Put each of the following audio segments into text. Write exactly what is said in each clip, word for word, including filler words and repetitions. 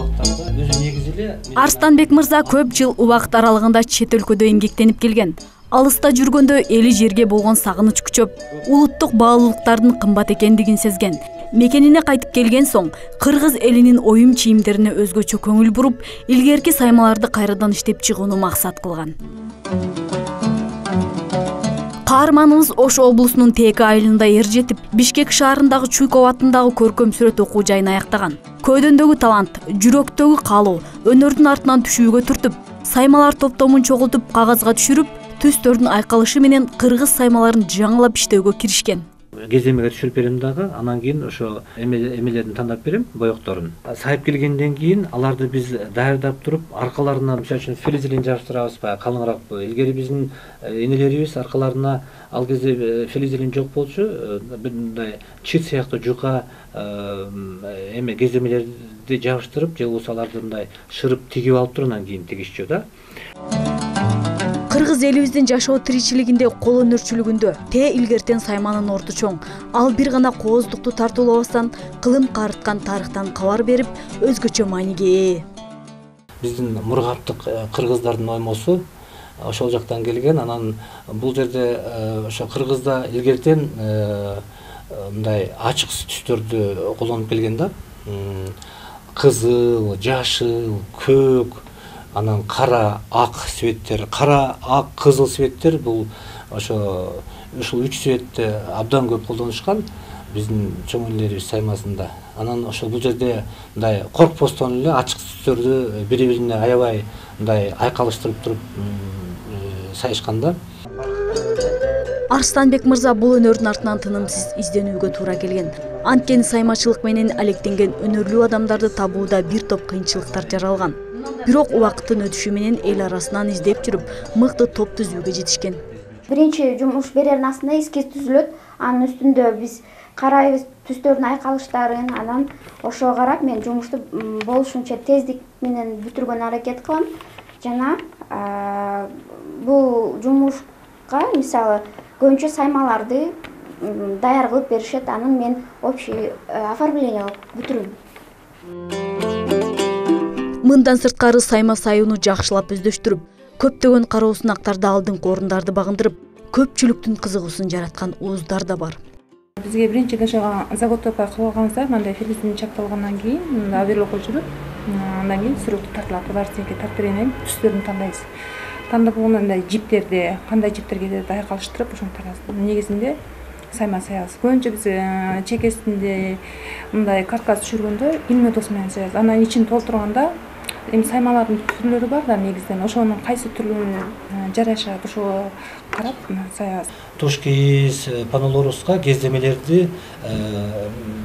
убактарда өзү негизи эле Арстанбек мырза көп жыл убакыт аралыгында чет өлкөдө эмгектенип келген. Алыста жүргөндө эли жерге болгон сагыныч күчөп, улуттук баалуулуктардын кымбат экендигин сезген. Мекенине кайтып келген соң, кыргыз элинин оюм чийимдерине өзгөчө көңүл буруп, илгерки саймаларды кайрадан иштеп чыгууну максат кылган. Каарманыбыз Ош облусунун Теке айылында эр жетип, Бишкек шаарындагы Чуйков атындагы көркөм сүрөт окуу жайын аяктаган. Көйдөндөгү талант, жүрөктөгү каалоо, өнөрдүн артынан түшүүгө түртүп, саймалар топтомун чогултуп, кагазга түшүрүп, түстөрдүн айкалышы менен кыргыз саймаларын жаңылап иштөөгө киришкен. Кеземеге түшүрүп берем дагы, анан кийин ошо эмелерин тандап берем, боекторун. Сайып келгенден кийин аларды биз даярдап туруп, аркаларына мисалы үчүн флизелин жабыштырабыз, баягы калыңыраак. Илгери биздин энелерибиз аркаларына ал кезде флизелин жок болчу, мындай чит сыяктуу жука эме кеземелерди жабыштырып, же болбосо аларды мындай шырып тигип алып туруп анан кийин тигишчү да. Кыргыз элибиздин жашоо тиричилигинде кол өнөрчүлүгүндө Те илгертен сайманын орду чоң. Ал бир гана кооздукту тартуулабастан кылым карыткан тарыхтан кабар берип, өзгөчө мааниге ээ. Биздин мургаптык кыргыздардын оймосу ошол жактан келген. Анан бул жерде ошо кыргызда илгертен мындай ачык түстөрдү колдонуп келген да. Кызыл, жашыл, көк, анан кара, ак цветтер, кара, ак, кызыл цветтер бул ошо ушул үч цветти абдан көп колдонушкан биздин чоң энелерибиз саймасында. Анан ошо бул жерде мындай коркпостон эле ачык түстөрдү бири-бирине аябай мындай айкалыштырып туруп сайышкан да. Арстанбек мырза бул өнөрдүн артынан тынымсыз изденүүгө туура келген. Анткени саймачылык менен алектенген өнөрлүү адамдарды табууда бир топ кыйынчылыктар жаралган. Бирок убакыттын өтүшү менен эл арасынан издеп жүрүп, мыкты топ түзүүгө жетишкен. Биринчи жумуш берердин астында эскиз түзүлөт. Анын үстүндө биз карайбыз түстөрдүн айкалыштарын, анан ошого карап мен жумушту болушунча тездик менен бүтүргөнгө аракет кылам. Жана бул жумушка мисалы көбүнчө саймаларды даяр кылып беришет, анан мен общий оформление кылып бүтүрөм. Мындан сырткары сайма сайууну жакшылап өздөштүрүп, көптөгөн кароосунактарды алдыңкы орундарды багындырып, көпчүлүктүн кызыгуусун жараткан ууздар да бар. Бизге биринчи ошого заготовка кылганыбызда мындай филизин чапталгандан кийин аверлоого жүрүп, андан кийин сүрөттү тартылат, баарысыныкин тартып бергенден кийин түстөрүн тандайбыз. Тандап болгондон кийин жиптерди, кандай жиптерге деп айкалыштырып, ошентип негизинде сайма саябыз. Көбүнчө биз чекесинде мындай каркас түшүргөндө пулеметос менен саябыз. Анан ичин толтурганда эми саймалардын түрлөрү бар да негизден. Ошонун кайсы түрүнө жарашат, ошого карап саябыз. Тушкиз, панолоруска кездемелерди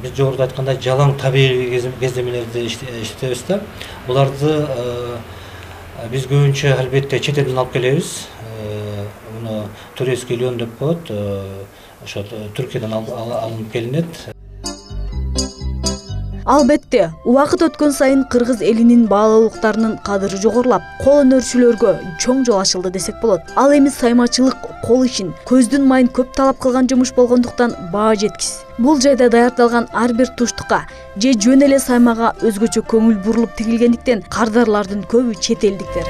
биз жогоруда айткандай жалаң табигый кездемелерди иштетебиз да. Буларды биз көбүнчө албетте чет элден алып келебиз. Муну турецкий лен деп коет. Ошо Түркиядан алынып келинет. Албетте, убакыт өткөн сайын кыргыз элинин баалуулуктарынын кадыры жогорулап, кол өнөрчүлөргө чоң жол ачылды десек болот. Ал эми саймачылык кол ишин, көздүн майын көп талап кылган жумуш болгондуктан баа жеткис. Бул жайда даярдалган ар бир туштукка же жөн эле саймага өзгөчө көңүл бурулуп тигилгендиктен кардарлардын көбү чет элдиктер.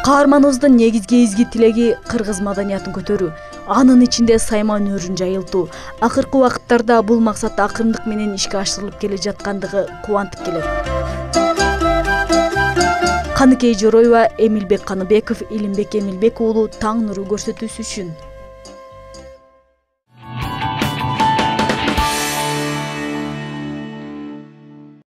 Каарманыбыздын негизги изги тилеги кыргыз маданиятын көтөрүү, анын ичинде сайма өнөрүн жайылтуу. Акыркы убакыттарда бул максат акырындык менен ишке ашырылып келе жаткандыгы кубантып келет. Каныкей Жороева, Эмилбек Каныбеков, Илимбек Эмилбек уулу Таң нуру көрсөтүүсү үчүн.